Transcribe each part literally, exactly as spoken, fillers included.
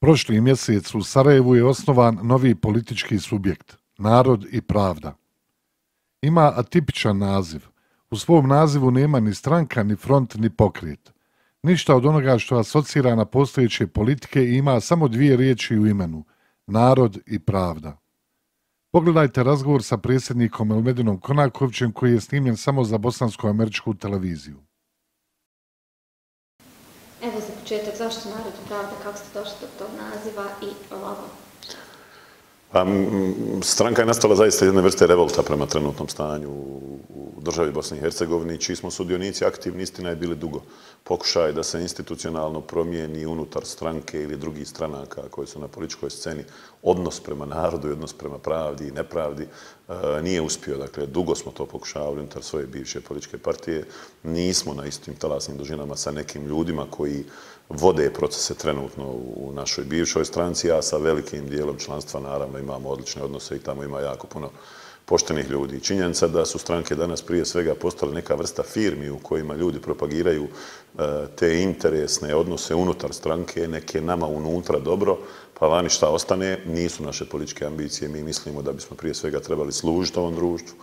Prošli mjesec u Sarajevu je osnovan novi politički subjekt, Narod i pravda. Ima atipičan naziv. U svom nazivu nema ni stranka, ni front, ni pokret. Ništa od onoga što asocira na postojeće politike i ima samo dvije riječi u imenu, narod i pravda. Pogledajte razgovor sa predsjednikom Elmedinom Konakovićem koji je snimljen samo za bosansko-američku televiziju. Evo za početak, zašto Narod i pravda, kako ste došli do tog naziva i logo? Pa, stranka je nastala zaista jedne vrste revolta prema trenutnom stanju u državi Bosni i Hercegovini, čiji smo sudionici aktivni, istina je bili dugo. Pokušaj da se institucionalno promijeni unutar stranke ili drugih stranaka koji su na političkoj sceni odnos prema narodu i odnos prema pravdi i nepravdi nije uspio. Dakle, dugo smo to pokušavali unutar svoje bivše političke partije. Nismo na istim talasnim dužinama sa nekim ljudima koji vode procese trenutno u našoj bivšoj stranci, a sa velikim dijelom članstva naravno imamo odlične odnose i tamo ima jako puno poštenih ljudi. Činjenica da su stranke danas prije svega postale neka vrsta firmi u kojima ljudi propagiraju te interesne odnose unutar stranke, neke nama unutra dobro, pa vani šta ostane, nisu naše političke ambicije. Mi mislimo da bismo prije svega trebali služiti ovom društvu,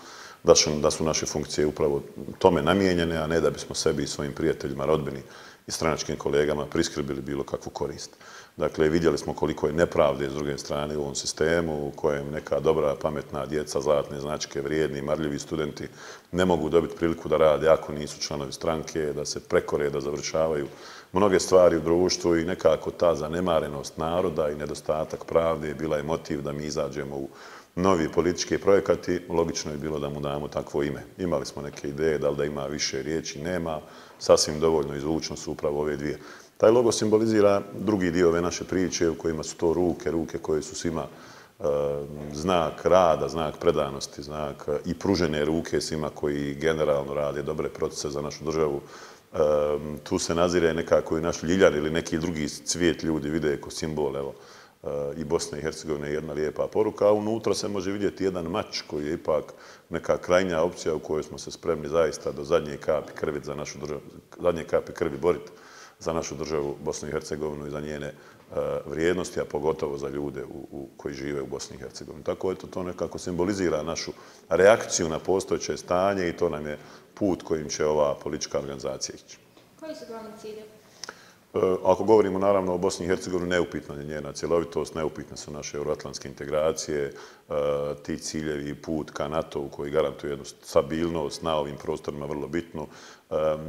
da su naše funkcije upravo tome namijenjene, a ne da bismo sebi i svojim prijateljima, rodbini i stranačkim kolegama priskrbili bilo kakvu korist. Dakle, vidjeli smo koliko je nepravde s druge strane u ovom sistemu u kojem neka dobra, pametna djeca, zlatne značke, vrijedni, marljivi studenti ne mogu dobiti priliku da rade ako nisu članovi stranke, da se prekore, da završavaju mnoge stvari u društvu i nekako ta zanemarenost naroda i nedostatak pravde bila je motiv da mi izađemo u novi politički projekat i logično je bilo da mu damo takvo ime. Imali smo neke ideje, da li da ima više riječi, nema, sasvim dovoljno izvučno su upravo ove dvije. Taj logo simbolizira drugi dio ove naše priče u kojima su to ruke, ruke koje su svima znak rada, znak predanosti, znak i pružene ruke svima koji generalno rade dobre procese za našu državu. Tu se nazire nekako i naš ljiljan ili neki drugi cvijet ljudi vide kao simbol, evo, i Bosne i Hercegovine je jedna lijepa poruka, a unutra se može vidjeti jedan mač koji je ipak neka krajnja opcija u kojoj smo se spremni zaista do zadnje kapi krvi za našu državu, zadnje kapi krvi boriti za našu državu Bosnu i Hercegovinu i za njene vrijednosti, a pogotovo za ljude koji žive u Bosni i Hercegovini. Tako eto, to nekako simbolizira našu reakciju na postojeće stanje i to nam je put kojim će ova politička organizacija ići. Koji su glavni ciljevi? Ako govorimo naravno o Bosni i Hercegovini, neupitna je njena cjelovitost, neupitne su naše euroatlantske integracije, ti ciljevi i put ka NATO-u koji garantuje jednu stabilnost na ovim prostorima vrlo bitnu.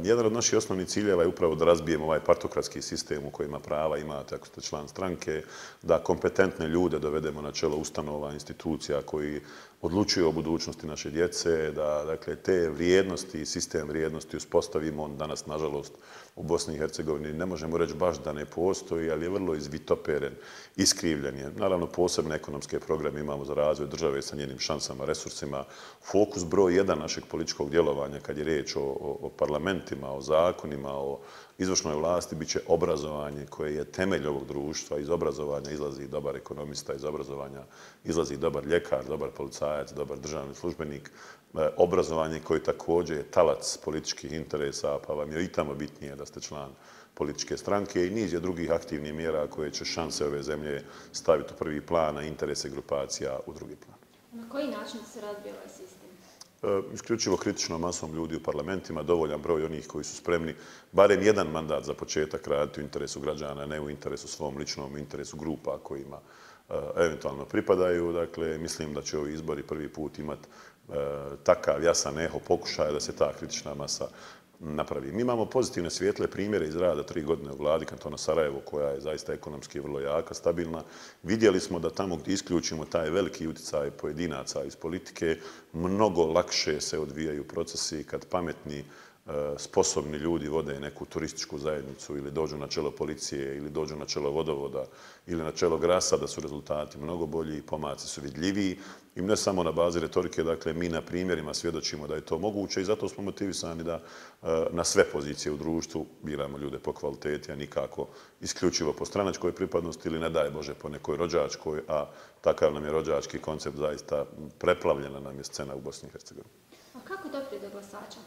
Jedan od naših osnovnih ciljeva je upravo da razbijemo ovaj partokratski sistem u kojima prava imate ako ste član stranke, da kompetentne ljude dovedemo na čelo ustanova, institucija koji odlučuju o budućnosti naše djece, da dakle, te vrijednosti i sistem vrijednosti uspostavimo. On danas, nažalost, u Bosni i Hercegovini ne možemo reći baš da ne postoji, ali je vrlo izvitoperen, iskrivljen je. Naravno, posebne ekonomske programe imamo za razvoj države sa njenim šansama, resursima. Fokus broj jedan našeg političkog djelovanja kad je riječ o, o, o parlamentima, o zakonima, o izvršnoj vlasti, bit će obrazovanje koje je temelj ovog društva. Iz obrazovanja izlazi dobar ekonomista, iz obrazovanja izlazi dobar ljekar, dobar policajac, dobar državni službenik. Obrazovanje koje također je talac političkih interesa, pa vam je i tamo bitnije da ste član političke stranke i niz je drugih aktivnih mjera koje će šanse ove zemlje staviti u prvi plan, a interese grupacija u drugi plan. Na koji način se razbija ovaj sistem? Isključivo kritičnom masom ljudi u parlamentima, dovoljan broj onih koji su spremni barem jedan mandat za početak raditi u interesu građana, ne u interesu svom ličnom, u interesu grupa kojima eventualno pripadaju. Dakle, mislim da će ovi izbori prvi put imati takav jasan eho pokušaja da se ta kritična masa napravi. Mi imamo pozitivne svijetle primjere iz rada tri godine u vladi kantona Sarajevo, koja je zaista ekonomski vrlo jaka, stabilna. Vidjeli smo da tamo gdje isključimo taj veliki utjecaj pojedinaca iz politike, mnogo lakše se odvijaju procesi kad pametni, sposobni ljudi vode neku turističku zajednicu ili dođu na čelo policije ili dođu na čelo vodovoda ili na čelo grasa, da su rezultati mnogo bolji, pomaci su vidljiviji i ne samo na bazi retorike, dakle mi na primjerima svjedočimo da je to moguće i zato smo motivisani da na sve pozicije u društvu biramo ljude po kvaliteti, a nikako isključivo po stranačkoj pripadnosti ili ne daj Bože po nekoj rođačkoj, a takav nam je rođački koncept, zaista preplavljena nam je scena u Bosni i Hercegovini. A kako doprijeti do glasača?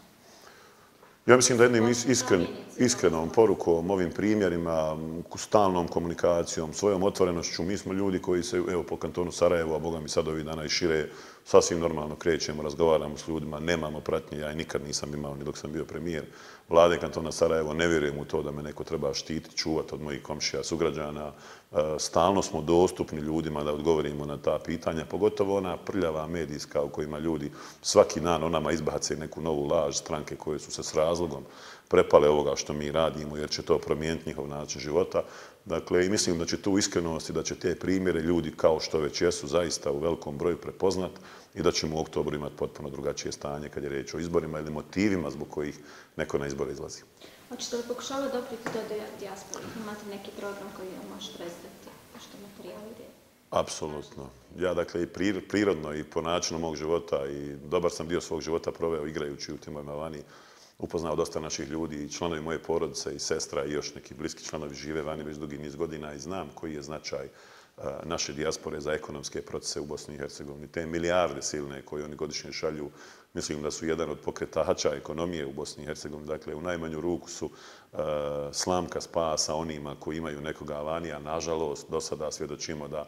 Ja mislim da jednim iskren, iskrenom porukom, ovim primjerima, stalnom komunikacijom, svojom otvorenošću, mi smo ljudi koji se, evo, po kantonu Sarajevo, a boga mi sad ovih dana i šire, sasvim normalno krećemo, razgovaramo s ljudima, nemamo pratnje, ja i nikad nisam imao, ni dok sam bio premijer vlade kantona Sarajevo, ne vjerujem u to da me neko treba štititi, čuvati od mojih komšija, sugrađana. Stalno smo dostupni ljudima da odgovorimo na ta pitanja, pogotovo ona prljava medijska u kojima ljudi svaki dan o nama izbace neku novu laž, stranke koje su se s razlogom prepale ovoga što mi radimo, jer će to promijeniti njihov način života. Dakle, i mislim da će tu iskrenost i da će te primjere ljudi, kao što već jesu, zaista u velikom broju prepoznat i da ćemo u oktobru imati potpuno drugačije stanje kad je riječ o izborima ili motivima zbog kojih neko na izbore izlazi. Hoćete li pokušavati doprijeti do dijaspore? Imate neki program koji vam može predstaviti što materijali gdje? Apsolutno. Ja, dakle, i prirodno i po načinu mog života i dobar sam dio svog života proveo igrajući u timovima vani. Upoznao dosta naših ljudi i članovi moje porodice i sestra i još neki bliski članovi žive vani već dugi niz godina i znam koji je značaj naše dijaspore za ekonomske procese u Bosni i Hercegovini. Te milijarde silne koje oni godišnje šalju, mislim da su jedan od pokretača ekonomije u Bosni i Hercegovini. Dakle, u najmanju ruku su slamka spasa onima koji imaju nekoga vani, a nažalost do sada svjedočimo da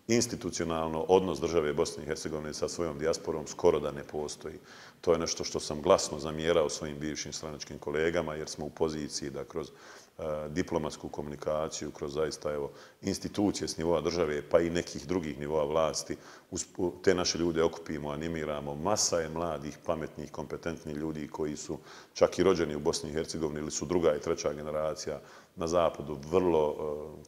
institucionalno odnos države Bosne i Hercegovine sa svojom dijasporom skoro da ne postoji. To je nešto što sam glasno zamjerao svojim bivšim stranačkim kolegama, jer smo u poziciji da kroz diplomatsku komunikaciju, kroz zaista evo, institucije s nivoa države, pa i nekih drugih nivoa vlasti, te naše ljude okupimo, animiramo. Masa je mladih, pametnih, kompetentnih ljudi koji su čak i rođeni u Bosni i Hercegovini ili su druga i treća generacija na zapadu, vrlo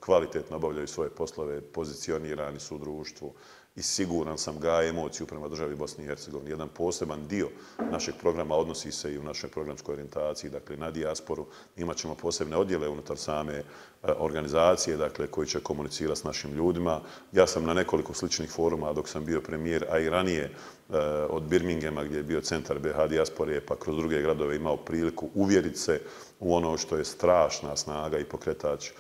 kvalitetno obavljaju svoje poslove, pozicionirani su u društvu i siguran sam gaje emociju prema državi Bosni i Hercegovini. Jedan poseban dio našeg programa odnosi se i u našoj programskoj orijentaciji, dakle na dijasporu. Imat ćemo posebne odjele unutar same organizacije, dakle, koji će komunicirati s našim ljudima. Ja sam na nekoliko sličnih foruma dok sam bio premijer, a i ranije od Birminghama gdje je bio centar B H dijaspore, pa kroz druge gradove imao priliku uvjeriti se u ono što je strašna snaga i pokretač,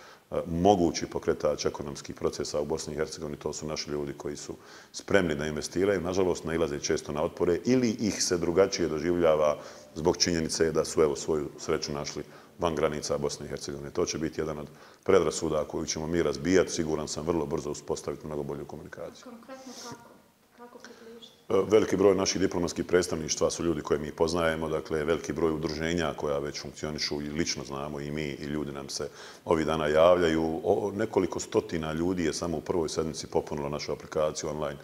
mogući pokretač ekonomskih procesa u Bosni i Hercegovini. To su naši ljudi koji su spremni da investiraju. Nažalost, nailaze često na otpore ili ih se drugačije doživljava zbog činjenice da su evo svoju sreću našli van granica Bosne i Hercegovine. To će biti jedan od predrasuda koju ćemo mi razbijati. Siguran sam vrlo brzo uspostaviti mnogo bolju komunikaciju. Konkretno kako? Kako približiti? Veliki broj naših diplomatskih predstavništva su ljudi koje mi poznajemo, dakle veliki broj udruženja koja već funkcionišu i lično znamo i mi i ljudi nam se ovih dana javljaju. O, nekoliko stotina ljudi je samo u prvoj sedmici popunilo našu aplikaciju online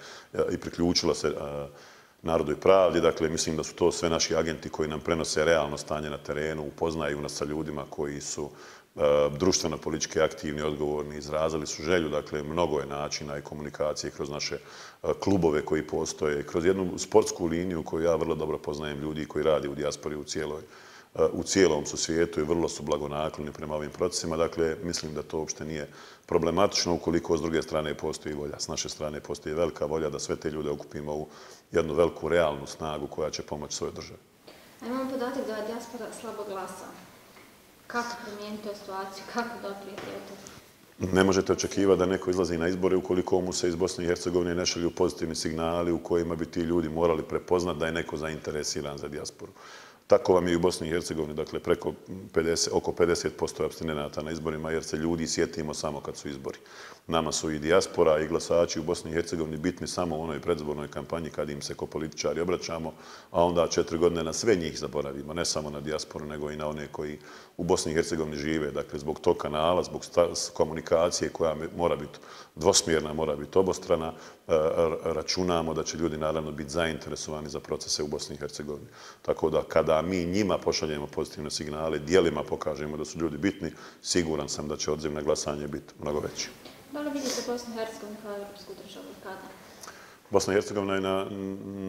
i priključila se a, Narodu i pravdi. Dakle, mislim da su to sve naši agenti koji nam prenose realno stanje na terenu, upoznaju nas sa ljudima koji su društveno-politički aktivni, odgovorni, izrazili su želju. Dakle, mnogo je načina i komunikacije kroz naše klubove koji postoje, kroz jednu sportsku liniju koju ja vrlo dobro poznajem ljudi koji radi u dijaspori u cijeloj u cijelom su svijetu i vrlo su blagonakloni prema ovim procesima. Dakle, mislim da to uopšte nije problematično ukoliko s druge strane postoji volja. S naše strane postoji velika volja da sve te ljude okupimo u jednu veliku realnu snagu koja će pomoći svojoj državi. A imamo podatak da je dijaspora slabo glasa. Kako promijeniti tu situaciju? Kako doprijeti to? Ne možete očekivati da neko izlazi na izbore ukoliko mu se iz Bosne i Hercegovine ne šalju pozitivni signali u kojima bi ti ljudi morali prepoznati da je neko zainteresiran za dijasporu. Tako vam je i u Bosni i Hercegovini, dakle preko pedeset, oko pedeset posto apstinenata na izborima, jer se ljudi sjetimo samo kad su izbori. Nama su i dijaspora i glasači u Bosni i Hercegovini bitni samo u onoj predzbornoj kampanji kad im se ko političari obraćamo, a onda četiri godine na sve njih zaboravimo, ne samo na dijasporu, nego i na one koji u Bosni i Hercegovini žive. Dakle, zbog tog kanala, zbog komunikacije koja mora biti dvosmjerna, mora biti obostrana, računamo da će ljudi naravno biti zainteresovani za procese u Bosni i Hercegovini. Tako da kada mi njima pošaljemo pozitivne signale, dijelima pokažemo da su ljudi bitni, siguran sam da će odziv na glasanje biti mnogo veći. Da li vidite Bosnu i Hercegovinu kao evropsku državu i kada? Bosna i Hercegovina je na,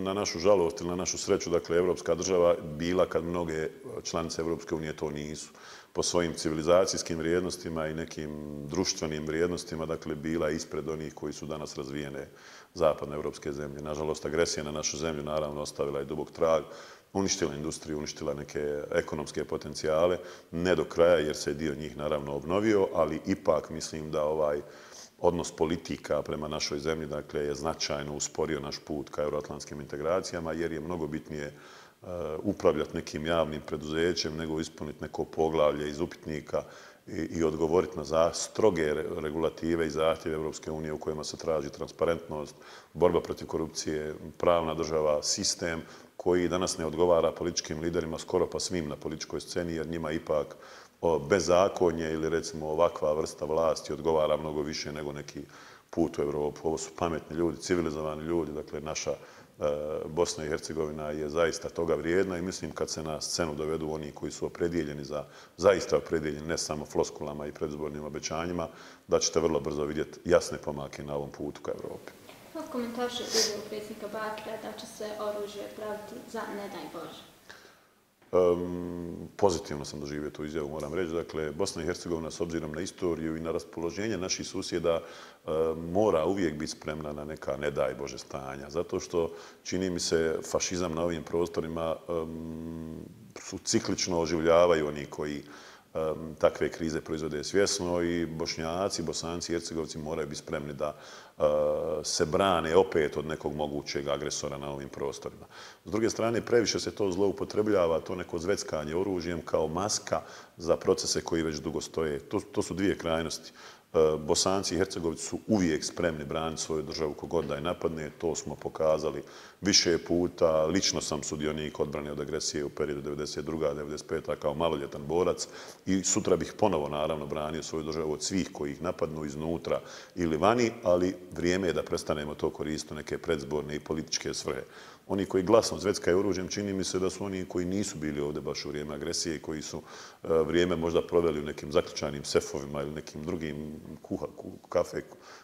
na našu žalost ili na našu sreću, dakle, evropska država bila kad mnoge članice Evropske unije to nisu. Po svojim civilizacijskim vrijednostima i nekim društvenim vrijednostima, dakle, bila ispred onih koji su danas razvijene zapadne evropske zemlje. Nažalost, agresija na našu zemlju naravno ostavila je dubok trag, uništila industriju, uništila neke ekonomske potencijale, ne do kraja jer se dio njih naravno obnovio, ali ipak mislim da ovaj odnos politika prema našoj zemlji, dakle, je značajno usporio naš put ka euroatlantskim integracijama, jer je mnogo bitnije upravljati nekim javnim preduzećem, nego ispuniti neko poglavlje iz upitnika i, i odgovoriti na za, stroge regulative i zahtjeve Europske unije u kojima se traži transparentnost, borba protiv korupcije, pravna država, sistem koji danas ne odgovara političkim liderima skoro pa svim na političkoj sceni, jer njima ipak bezakonje ili recimo ovakva vrsta vlasti odgovara mnogo više nego neki put u Europu. Ovo su pametni ljudi, civilizovani ljudi, dakle naša Bosna i Hercegovina je zaista toga vrijedna i mislim kad se na scenu dovedu oni koji su opredijeljeni za, zaista opredijeljeni ne samo floskulama i predizbornim obećanjima, da ćete vrlo brzo vidjeti jasne pomake na ovom putu ka Europi. Kako komentarše izjavu predsjednika Bakira da će se oružje praviti za ne daj Bože? Um, pozitivno sam doživio tu izjavu, moram reći. Dakle, Bosna i Hercegovina s obzirom na istoriju i na raspoloženje naših susjeda um, mora uvijek biti spremna na neka ne daj Bože stanja. Zato što čini mi se fašizam na ovim prostorima um, su ciklično oživljavaju oni koji um, takve krize proizvode svjesno i Bošnjaci, Bosanci i Hercegovci moraju biti spremni da uh, se brane opet od nekog mogućeg agresora na ovim prostorima. S druge strane, previše se to zloupotrebljava, to neko zveckanje oružjem kao maska za procese koji već dugo stoje. To, to su dvije krajnosti. Bosanci i Hercegovci su uvijek spremni braniti svoju državu kogod da je napadne. To smo pokazali više puta. Lično sam sudionik odbrane od agresije u periodu devedeset druga do devedeset peta kao maloljetan borac i sutra bih ponovo naravno branio svoju državu od svih koji ih napadnu iznutra ili vani, ali vrijeme je da prestanemo to koristiti u neke predzborne i političke svrhe. Oni koji glasno zveckaju oružjem, čini mi se da su oni koji nisu bili ovdje baš u vrijeme agresije i koji su vrijeme možda proveli u nekim zaključanim sefovima ili nekim drugim kuha, kafe,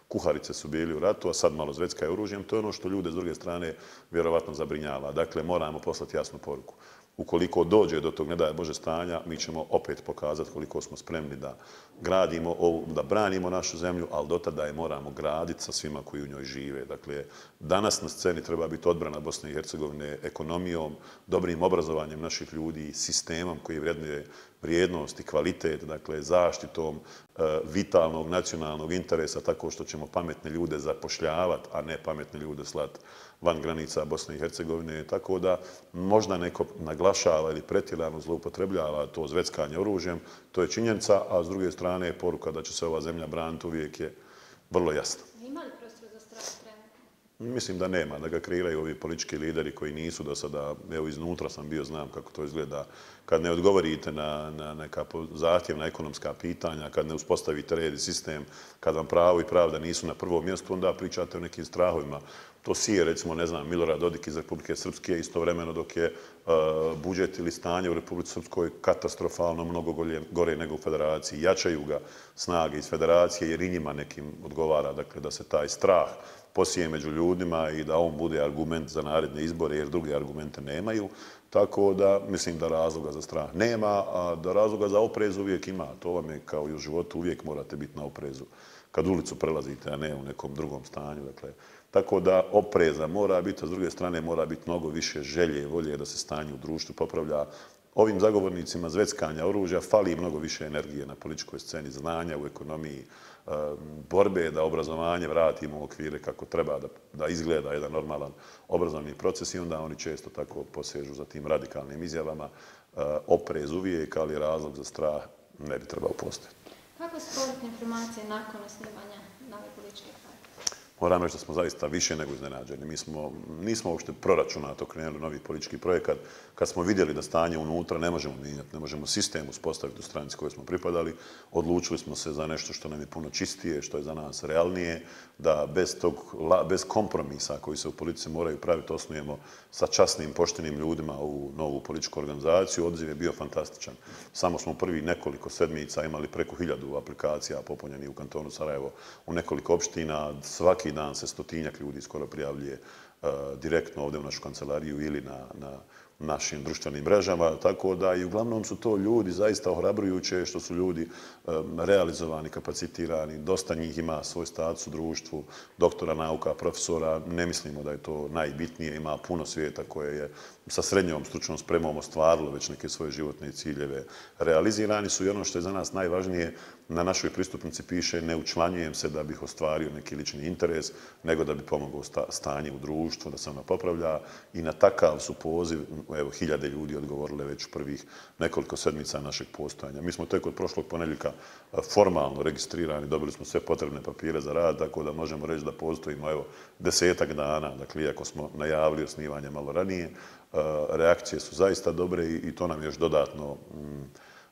kuharice su bili u ratu, a sad malo zveckaju oružjem. To je ono što ljude s druge strane vjerovatno zabrinjava. Dakle, moramo poslati jasnu poruku. Ukoliko dođe do tog ne daj Bože stanja, mi ćemo opet pokazati koliko smo spremni da gradimo, da branimo našu zemlju, ali do tada je moramo graditi sa svima koji u njoj žive. Dakle, danas na sceni treba biti odbrana Bosne i Hercegovine ekonomijom, dobrim obrazovanjem naših ljudi, sistemom koji vrednuje vrijednost i kvalitet, dakle zaštitom e, vitalnog nacionalnog interesa tako što ćemo pametne ljude zapošljavati, a ne pametne ljude slati van granica Bosne i Hercegovine. Tako da možda neko naglašava ili pretjerano zloupotrebljava to zveckanje oružjem, to je činjenica, a s druge strane poruka da će se ova zemlja braniti uvijek je vrlo jasna. Ima li prostora za strah trenutno? Mislim da nema, da ga kreiraju ovi politički lideri koji nisu do sada, evo iznutra sam bio, znam kako to izgleda, kad ne odgovorite na, na neka zahtjevna ekonomska pitanja, kad ne uspostavite red i sistem, kad vam pravo i pravda nisu na prvom mjestu, onda pričate o nekim strahovima. To sije, recimo, ne znam, Milorad Dodik iz Republike Srpske, istovremeno dok je uh, budžet ili stanje u Republici Srpskoj katastrofalno mnogo gore, gore nego u federaciji. Jačaju ga snage iz federacije jer i njima nekim odgovara, dakle, da se taj strah posije među ljudima i da on bude argument za naredne izbore jer druge argumente nemaju. Tako da mislim da razloga za strah nema, a da razloga za oprez uvijek ima. To vam je kao i u životu, uvijek morate biti na oprezu kad ulicu prelazite, a ne u nekom drugom stanju. Dakle, tako da opreza mora biti, a s druge strane mora biti mnogo više želje i volje da se stanje u društvu popravlja. Ovim zagovornicima zveckanja oružja fali mnogo više energije na političkoj sceni, znanja u ekonomiji, borbe da obrazovanje vratimo u okvire kako treba da, da izgleda jedan normalan obrazovni proces i onda oni često tako posežu za tim radikalnim izjavama. Oprez uvijek, ali razlog za strah ne bi trebao postojati. Kako su povratne informacije nakon osnivanja nove političke partije? Moram reći da smo zaista više nego iznenađeni. Mi smo, nismo uopšte proračunato krenuli novi politički projekat. Kad smo vidjeli da stanje unutra ne možemo mijenjati, ne možemo sistem uspostaviti u stranici kojoj smo pripadali, odlučili smo se za nešto što nam je puno čistije, što je za nas realnije, da bez, tog, bez kompromisa koji se u politici moraju praviti osnujemo sa časnim, poštenim ljudima u novu političku organizaciju. Odziv je bio fantastičan. Samo smo prvi nekoliko sedmica imali preko hiljadu aplikacija popunjenih u kantonu Sarajevo u nekoliko opština. Svaki dan se stotinjak ljudi skoro prijavljuje uh, direktno ovdje u našu kancelariju ili na, na našim društvenim mrežama, tako da i uglavnom su to ljudi zaista ohrabrujuće što su ljudi um, realizovani, kapacitirani, dosta njih ima svoj status u društvu, doktora nauka, profesora, ne mislimo da je to najbitnije, ima puno svijeta koje je sa srednjom stručnom spremom ostvarilo već neke svoje životne ciljeve. Realizirani su i ono što je za nas najvažnije, na našoj pristupnici piše ne učlanjujem se da bih ostvario neki lični interes, nego da bi pomogao stanje u društvu, da se ono popravlja i na takav su poziv evo, hiljade ljudi odgovorile već u prvih nekoliko sedmica našeg postojanja. Mi smo tek od prošlog ponedjeljka formalno registrirani, dobili smo sve potrebne papire za rad, tako da možemo reći da postojimo evo, desetak dana, dakle, iako smo najavili osnivanje malo ranije, reakcije su zaista dobre i to nam još dodatno,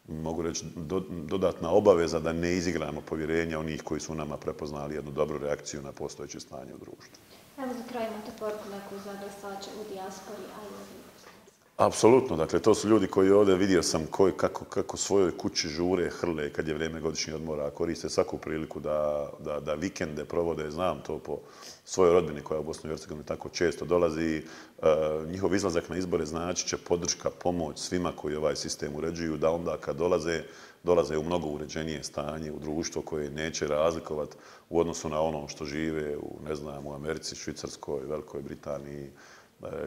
mogu reći, dodatna obaveza da ne izigramo povjerenja onih koji su nama prepoznali jednu dobru reakciju na postojeće stanje u društvu. Evo za kraj imate poruku neku za glasače u dijaspori, a i u Apsolutno, dakle, to su ljudi koji ovdje vidio sam koji, kako, kako svojoj kući žure, hrle kad je vrijeme godišnjih odmora, koriste svaku priliku da, da, da vikende provode, znam to po svojoj rodbini koja u Bosni i Hercegovini tako često dolazi. E, njihov izlazak na izbore znači će podrška, pomoć svima koji ovaj sistem uređuju, da onda kad dolaze, dolaze u mnogo uređenije stanje, u društvo koje neće razlikovati u odnosu na ono što žive u, ne znam, u Americi, Švicarskoj, Velikoj Britaniji,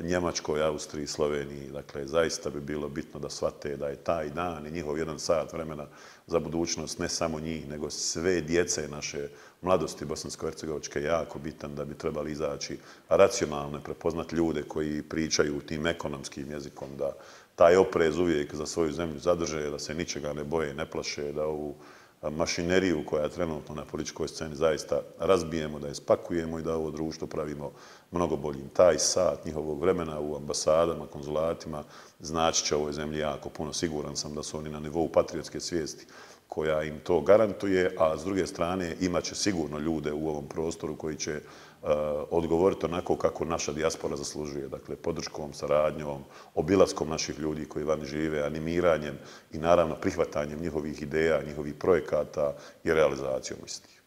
Njemačkoj, Austriji, Sloveniji. Dakle, zaista bi bilo bitno da shvate da je taj dan i njihov jedan sat vremena za budućnost ne samo njih, nego sve djece naše mladosti bosansko-hercegovačke jako bitan, da bi trebali izaći racionalno, prepoznati ljude koji pričaju tim ekonomskim jezikom, da taj oprez uvijek za svoju zemlju zadrže, da se ničega ne boje, ne plaše, da ovu mašineriju koja je trenutno na političkoj sceni zaista razbijemo, da je spakujemo i da ovo društvo pravimo mnogo boljim. Taj sat njihovog vremena u ambasadama, konzulatima znači će ovoj zemlji jako puno. Siguran sam da su oni na nivou patriotske svijesti koja im to garantuje, a s druge strane imat će sigurno ljude u ovom prostoru koji će uh, odgovoriti onako kako naša dijaspora zaslužuje. Dakle, podrškom, saradnjom, obilaskom naših ljudi koji vani žive, animiranjem i naravno prihvatanjem njihovih ideja, njihovih projekata i realizacijom istih.